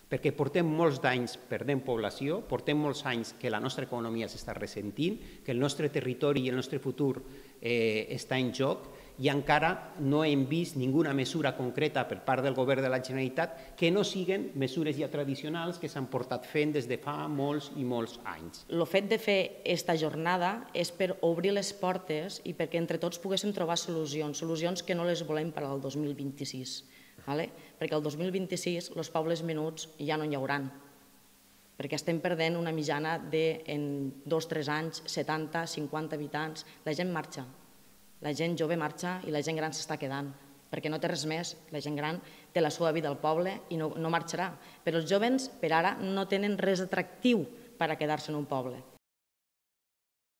perquè portem molts d'anys perdent població, portem molts anys que la nostra economia s'està ressentint, que el nostre territori i el nostre futur està en joc i encara no hem vist ninguna mesura concreta per part del govern de la Generalitat que no siguin mesures ja tradicionals que s'han portat fent des de fa molts i molts anys. El fet de fer aquesta jornada és per obrir les portes i perquè entre tots poguéssim trobar solucions que no les volem per al 2026. Perquè el 2026 els pobles menuts ja no n'hi hauran, perquè estem perdent una mitjana de, en 2 o 3 anys, 70, 50 habitants. La gent marxa, la gent jove marxa i la gent gran s'està quedant, perquè no té res més. La gent gran té la seva vida al poble i no marxarà. Però els joves, per ara, no tenen res atractiu per a quedar-se en un poble.